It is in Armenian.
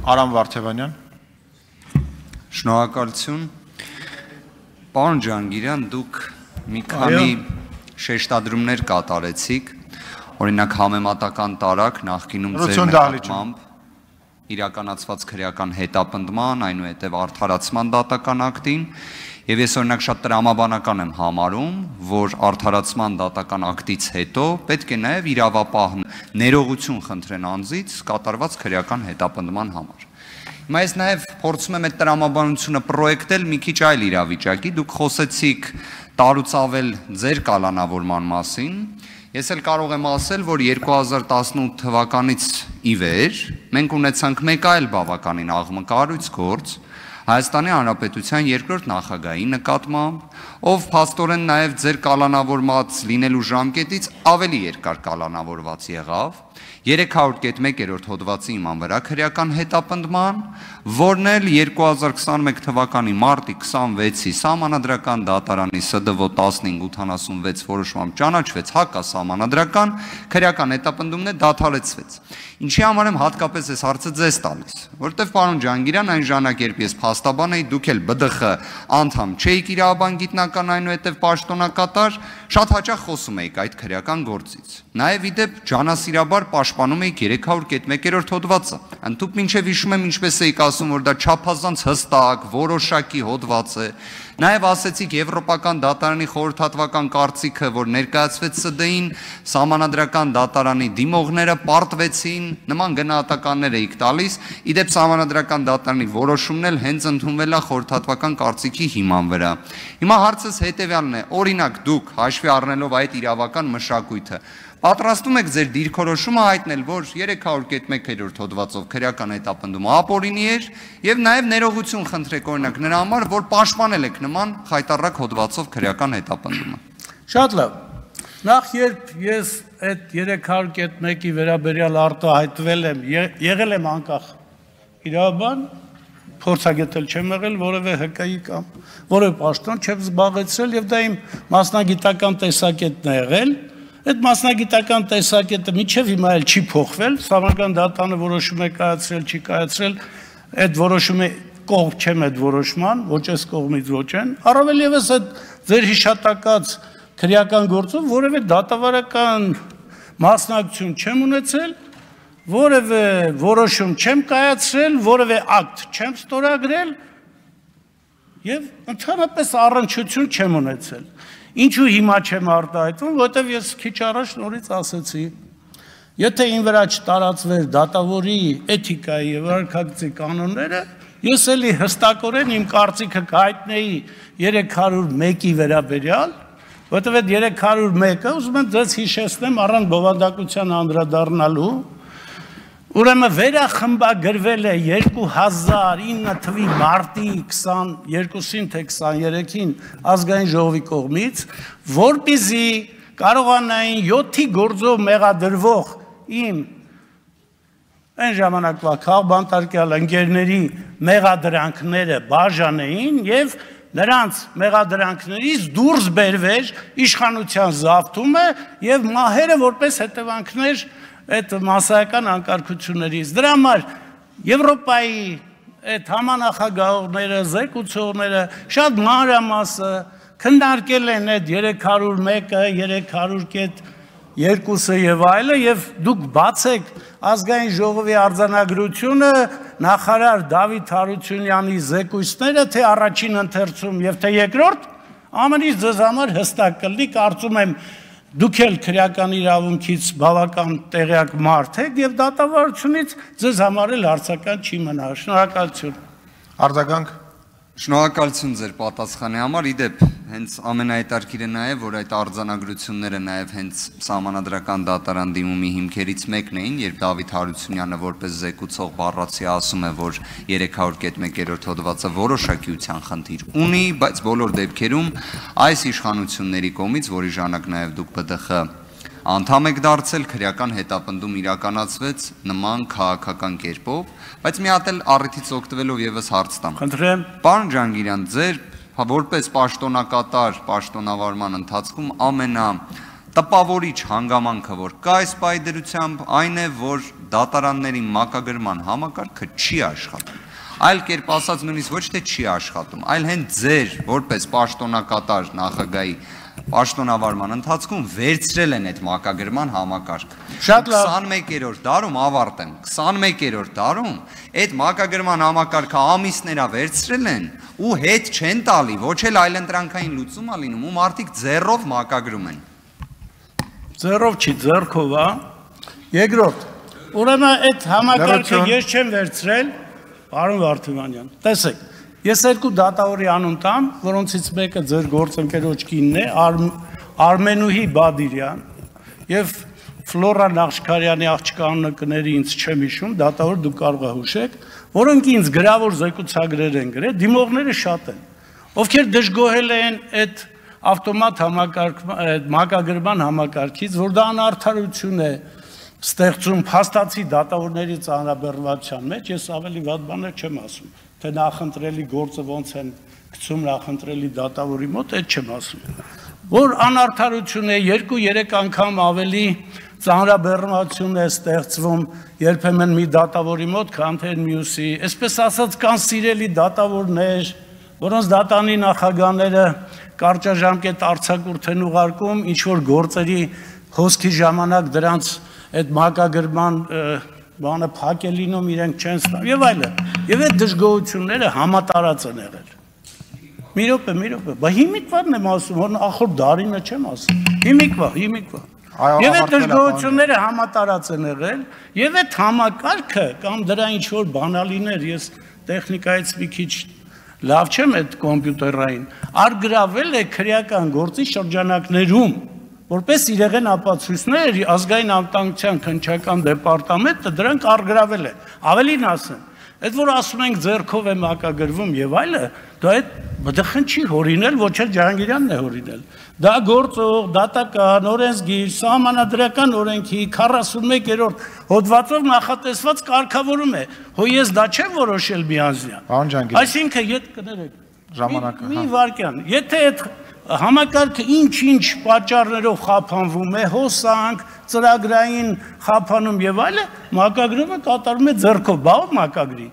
Արամ Վարդևանյան։ Շնորհակալություն։ Պարոն Ջանգիրյան, դուք մի քանի շեշտադրումներ կատարեցիք, օրինակ համեմատական տարակ նախկինում ձեր նկատմամբ իրականացված քրեական հետապնդման, այնուհետև արդարացման դատական ակտին, եւ ես օրինակ շատ տրամաբանական եմ համարում, որ արդարացման դատական ակտից հետո պետք է նաեւ իրավապահ ներողություն խնդրեն անձից կատարված քրեական հետապնդման համար։ Հիմա ես նաեւ փորձում եմ այդ տրամաբանությունը պրոյեկտել մի քիչ այլ իրավիճակի, դուք խոսեցիք տարուց ավել ձեր կալանավորման մասին, ես էլ կարող եմ ասել, որ 2018 թվականից ի վեր մենք ունեցանք մեկ այլ բավականին աղմկարույց գործ Հայաստանի Հանրապետության երկրորդ նախագահի նկատմամբ, ով փաստորեն նաև ձեր կալանավորված լինելու ժամկետից ավելի երկար կալանավորված եղավ, 300.1 հոդվածի իման վրա քրեական հետապնդման, որն էլ 2021 թվականի մարտի 26-ի Սահմանադրական դատարանի ՍԴՎ 1586 որոշմամբ ճանաչվեց հակասահմանադրական քրեական հետապնդումն է դադարեցվեց։ Ինչի համար եմ հատկապես այս հարցը ձեզ տալիս, որովհետև պարոն Ջանգիրյան, այն ժամանակ երբ ես փաստաբան էի, դուք էլ ԲԴԽ անդամ չէիք իրավաբան գիտնական, այնուհետև պաշտոնակատար, շատ հաճախ խոսում էիք այդ քրեական գործից։ Նաև իդեպ ջանասիրաբար պաշտպանում էիք 300.1 հոդվածը։ Ընդհուպ մինչև հիշում եմ ինչպես էիք ասում, որ դա չափազանց հստակ, որոշակի հոդված է։ Նաև ասեցիք Եվրոպական դատարանի խորհրդատվական կարծիքը, որ ներկայացվեց ՍԴ-ին, Սահմանադրական դատարանի դիմողները պարտվեցին, նման գնահատականներ էիք տալիս, իդեպ Սահմանադրական դատարանի որոշումն էլ հենց ընդունվել է խորհրդատվական կարծիքի հիման վրա։ Հիմա հարցս հետևյալն է, օրինակ դուք հաշվի առնելով այդ իրավական մշակույթը, պատրաստում եք ձեր դիրքորոշումը հայտնել, որ 300.1 հոդվածով քրեական հետապնդումը ապօրինի էր եւ նաեւ ներողություն խնդրեք օրինակ նրա համար, որ պաշտպանել եք նման խայտառակ հոդվածով քրեական հետապնդումը։ Շատ լավ։ Նախ երբ ես այդ 300.1-ի վերաբերյալ արտահայտվել եմ, եղել եմ անկախ իրավաբան, փորձագետել չեմ եղել, որևէ ՀԿ-ի կամ որևէ պաշտոն չեմ զբաղեցրել եւ դա իմ մասնագիտական տեսակետն է եղել։ Այդ մասնագիտական տեսակետը մինչև հիմա էլ չի փոխվել, Սահմանադրական դատարանը որոշում է կայացրել, չի կայացրել, այդ որոշումը կողմ չեմ այդ որոշման, ոչ այս կողմից ոչ են, առավել ևս այդ ձեր հիշատակած քրեական գործով որևէ դատավարական մասնակցություն չեմ ունեցել, որևէ որոշում չեմ կայացրել, որևէ ակտ չեմ ստորագրել եւ ընդհանրապես առնչություն չեմ ունեցել։ Ինչու հիմա չեմ արտահայտվում, որովհետև ես քիչ առաջ նորից ասեցի, եթե իմ վրա չտարածվեր դատավորի էթիկայի եւ վարքագծի կանոնները, ես էլի հստակորեն իմ կարծիքը կհայտնեի 301-ի վերաբերյալ, որովհետև այդ 301-ը ուզում եմ ձեզ հիշեցնեմ առանց բովանդակության անդրադառնալու, ուրեմն վերախմբագրվել է 2009 թվականի մարտի 22-ին թե 23-ին ազգային ժողովի կողմից, որպեսզի կարողանային 7-ի գործով մեղադրվող իմ այն ժամանակվա քաղբանտարկյալ ընկերների մեղադրանքները բաժանեին եւ նրանց մեղադրանքներից դուրս բերվեր իշխանության զավթումը եւ մահերը որպես հետևանքներ այդ մասսայական անկարգություններից։ Դրա համար Եվրոպայի այդ համանախագահողները, զեկուցողները շատ մանրամասը քննարկել են այդ 301-ը, 300.2-ը եւ այլը եւ դուք բացեք ազգային ժողովի արձանագրությունը նախարար Դավիթ Հարությունյանի զեկույցները թե առաջին ընթերցում եւ թե երկրորդ ամենից ձեզ համար հստակ կլինի, կարծում եմ դուք էլ քրեական իրավունքից բավական տեղյակ մարդ եք եւ դատավարությունից ձեզ համար էլ հարցական չի մնա։ Շնորհակալություն։ Արձագանք։ Շնորհակալություն ձեր պատասխանի համար, իդեպ հենց ամենահետաքրքիրը նա է, որ այդ արձանագրությունները նաև հենց Սահմանադրական դատարան դիմումի հիմքերից մեկն էին, երբ Դավիթ Հարությունյանը որպես զեկուցող բառացի ասում է, որ 300.1 հոդվածը որոշակիության խնդիր ունի, բայց բոլոր դեպքերում այս իշխանությունների կողմից, որի ժամանակ նաև դուք ԲԴԽ անդամ եք դարձել, քրեական հետապնդում իրականացվեց նման քաղաքական կերպով, բայց մի հատ էլ առիթից օգտվելով եւս հարց տամ։ Խնդրեմ։ Պարոն Ջանգիրյան, ձեր որպես պաշտոնակատար պաշտոնավարման ընթացքում տպավորիչ հանգամանքը, որ կա այս պայդրությամբ, այն է, որ դատարանների մակագրման համակարգը չի աշխատում։ Այլ կերպ ասած նույնիսկ ոչ թե չի աշխատում, այլ հենց ձեր որպես պաշտոնակատար նախագահի պաշտոնավարման ընթացքում վերցրել են այդ մակագրման համակարգը։ 21-րդ դարում ավարտեմ, 21-րդ դարում այդ մակագրման համակարգը ամիսներա վերցրել են ու հետ չեն տալի, ոչ էլ այլընտրանքային լուծում ա լինում, ու մարդիկ ձեռով մակագրում են։ Ձեռով չի, ձեռքով է։ Երկրորդ, ուրեմն այդ համակարգը ես չեմ վերցրել, պարոն Վարդանյան, տեսեք, ես երկու դատավորի անուն տամ, որոնցից մեկը ձեր գործընկերոջ կինն է, Արմենուհի Բադիրյան, եւ Ֆլորա Նախշքարյանի աղջկա անունը կների ինձ չեմ հիշում, դատավոր դուք կարող եք հուշեք, որոնք ինձ գրավոր զեկուցագրեր են գրել, դիմողները շատ են, ովքեր դժգոհել են այդ ավտոմատ մակագրման համակարգից, որ դա անարդարություն է ստեղծում փաստացի դատավորների ծանրաբեռնվածության մեջ, ես ավելի վատ բաներ չեմ ասում, թե նախընտրելի գործը ոնց են գցում նախընտրելի դատավորի մոտ, այդ չեմ ասում, որ անարդարություն է, 2-3 անգամ ավելի ծանրաբեռնվածություն է ստեղծվում երբեմն մի դատավորի մոտ, քան թե մյուսի, այսպես ասած կան սիրելի դատավորներ, որոնց դատանի նախագահները կարճաժամկետ արձակուրդ են ուղարկում, ինչ-որ գործերի հոսքի ժամանակ դրանց այդ մակագրման բանը փակ է լինում, իրենք չեն ստանում, եւ այլն, եւ այդ դժգոհությունները համատարած են եղել։ Մի րոպե, բա հիմիկվան եմ ասում, որ ախոր դարինը չեմ ասում, հիմիկվա։ Եվ այդ դժգոհությունները համատարած են եղել, եւ այդ համակարգը կամ դրա ինչ-որ բանալիներ, ես տեխնիկայից մի քիչ լավ չեմ այդ կոմպյուտերային, արգրավել է քրեական գործի շրջանակներում, որպես իրեղեն ապացույցներ ազգային անվտանգության քննչական դեպարտամենտը դրանք արգրավել է, ավելին ասեմ, այդ որ ասում ենք ձեռքով է մակագրվում եւ այլը, դա այդ խնդիր հորինել, ոչ էլ Ջահանգիրյանն է հորինել։ Դա գործող, դատական, օրենսգիր, սահմանադրական օրենքի 41-րդ հոդվածով նախատեսված կարգավորում է։ Հո ես դա չեմ որոշել միանձնյա։ Այսինքն, ժամանակը, մի վարքյան, եթե այդ համակարգը ինչ-ինչ պատճառներով խափանվում է, հոսանք, ծրագրային խափանում եւ այլը, մակագրումը կատարում է ձեռքով, բա ով մակագրի։